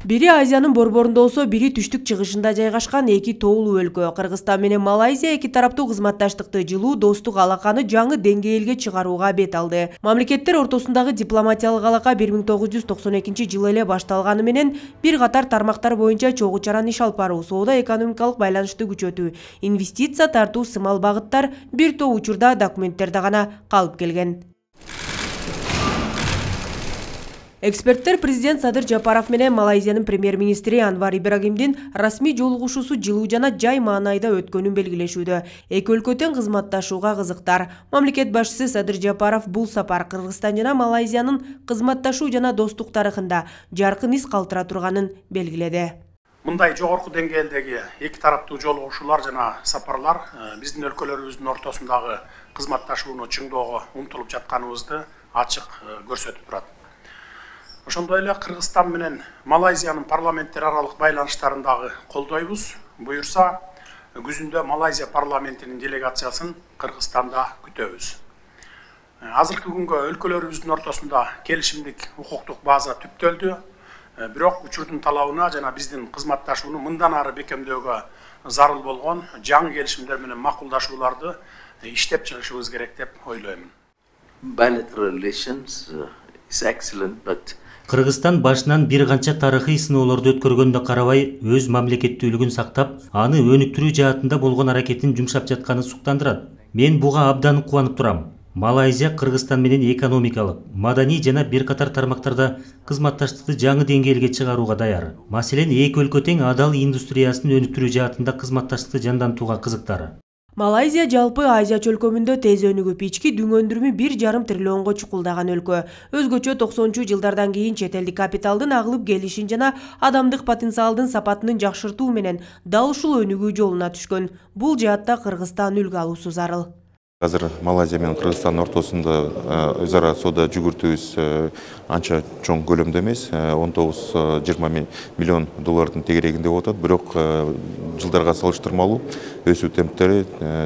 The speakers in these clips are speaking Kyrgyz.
Бири Азиянын борборунда болсо, бири түштүк чыгышында жайгашкан эки тоолуу өлкө Кыргызстан менен Малайзия эки тараптуу кызматташтыкты жылуу достук алаканы жаңы деңгээлге чыгарууга бет алды. Мамлекеттер ортосундагы дипломатиялык алака 1992 эле башталганы менен бир катар тармактар боюнча чогуу чаран иш алып баруу, соода-экономикалык байланышты күчөтүү, инвестиция тартуу сымал багыттар бир топ учурда документтерде гана калып келген. Эксперттер президент Садыр Жапаров менен Малайзиянын премьер-министри Анвар Ибрагимдин расмий жолугушуусу жылуу жана жай маанайда өткөнүн белгилешүүдө. Эки өлкө тең кызматташууга кызыктар. Мамлекет башчысы Садыр Жапаров бул сапар Кыргызстан жана Малайзиянын кызматташуу жана достук тарыхында жаркын из калтыра турганын белгиледи. Мындай жогорку деңгээлдеги эки тараптуу жолугушуулар жана сапарлар биздин өлкөлөрүбүздүн ортосундагы кызматташууну чыңдоого умтулуп жатканыбызды ачык көрсөтүп турат. Ошондой эле Кыргызстан менен Малайзиянын парламенттер аралык байланыштарындагы колдойбуз. Буюрса, күзүндө Малайзия парламентинин делегациясын Кыргызстанда күтөбүз. Азыркы күнгө өлкөлөрүбүздүн ортосунда келишимдик укуктук база түптөлдү. Бирок учурдун талабына жана биздин кызматташууну мындан ары бекемдөөгө зарыл болгон жаңы келишимдер менен макулдашууларды иштеп чыгышыбыз керек деп ойлоймун. Bilateral relations is excellent, but Кыргызстан башынан бир канча тарыхый сыноолорду өткөргөнгө карабай, өз мамлекеттүүлүгүн сактап, аны өнүктүрүү жаатында болгон аракетин жумшап жатканы суктандырат. Мен буга абдан кубанып турам. Малайзия Кыргызстан менен экономикалык, маданий жана бир катар тармактарда кызматташтыкты жаңы деңгээлге чыгарууга даяр. Маселен, эки өлкө тең адал индустриясын өнүктүрүү жаатында кызматташтыкты жандантууга кызыктар. Малайзия жалпы Азия чөлкөмүндө тез өнүгүп, ички дүң өндүрүмү 1,5 триллионго чукулдаган өлкө. Өзгөчө 90-жылдардан кийин чет элдик капиталдын агылып келишин жана адамдык потенциалдын сапатынын жакшыртуу менен дал ушул өнүгүү жолуна түшкөн. Бул жаатта Кыргызстан үлгү алуусу зарыл. Азыр Малайзия менен Кыргызстан ортосунда өз ара соода жүгүртүүбүз анча чоң көлөмдө эмес, 19-20 миллион доллардын тегерегинде болуп атат. Бирок жылдарга салыштырмалуу өсүү темптери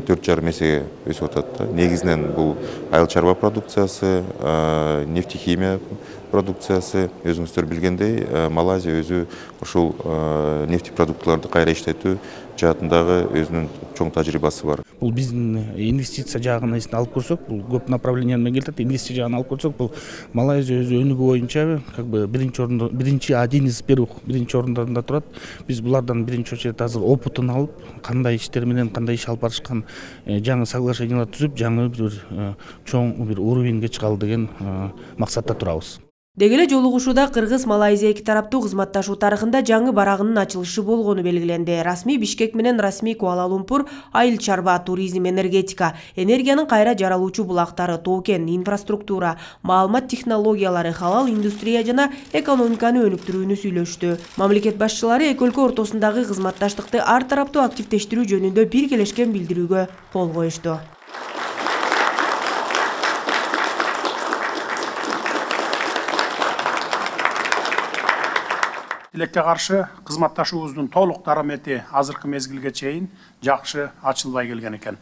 4,5 эсеге өсүп атат. Негизинен бул айыл чарба продукциясы, нефтехимия продукциясы, өзүңүздөр билгендей, Малайзия өзү ушул нефтепродуктыларды кайра иштетүү жаатындагы өзүнүн чоң тажрыйбасы бар. Бул биздин инвестиция жагын алып көрсөк, бул көп направление менен келет. Инвестиция жагын алып көрсөк, бул Малайзия өзү өнүгүү боюнча биринчи орундарында турат. Биз булардан биринчи очередь азыр опытын алып, кандай иштер менен кандай иш алып барышкан жаңы соглашениялар түзүп, жаңы бир чоң бир уровеньге чыгалы деген максатта турабыз. Деги эле жолугушууда Кыргыз-Малайзия эки тараптуу кызматташуу тарыхында жаңы барагынын ачылышы болгону белгиленди. Расмий Бишкек менен расмий Куала-Лумпур айыл чарба, туризм, энергетика, энергиянын кайра жаралуучу булактары, токен, инфраструктура, маалымат технологиялары, халал индустрия жана экономиканы өнүктүрүүнү сүйлөштү. Мамлекет башчылары эки өлкө ортосундагы кызматташтыкты ар тараптуу активдештирүү жөнүндө бир келишкен билдирүүгө кол коюшту. Тилекке каршы кызматташуубуздун толук дарамети азыркы мезгилге чейин жакшы ачылбай келген экен.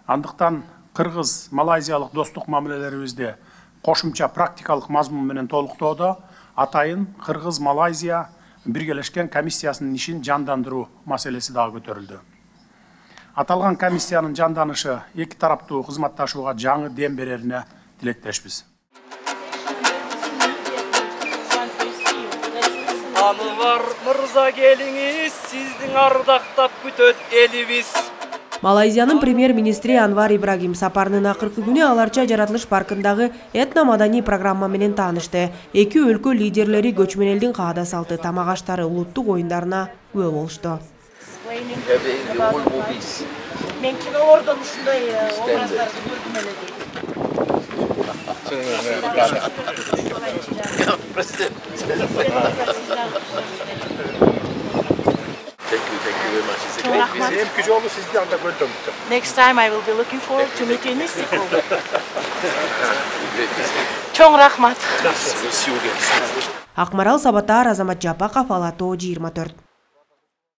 Андыктан Кыргыз-Малайзиялык достук мамилелерибизди кошумча практикалык мазмун менен толуктоодо атайын Кыргыз-Малайзия биргелешкен комиссиясынын ишин жандандыруу маселеси дагы көтөрүлдү. Аталган комиссиянын жанданышы эки тараптуу кызматташууга жаңы дем берерине тилектешпиз. Анвар мырза келиңиз, сиздин ардактап күтөт элибиз. Малайзиянын премьер-министри Анвар Ибрагим сапарынын акыркы күнү Аларча жаратылыш паркындагы этно-маданий программа менен таанышты. Эки өлкө лидерлери көчмөн элдин каада салты, тамак аштары, улуттук оюндарына күбө болушту. Мен кинолордон ушундай образдарды көрдүм эле дейт. Next time I will be looking forward to meeting you in Istanbul. Чоң рахмат. Акмарал Сабатар, Азамат Жапаков, Ала Тоо 24.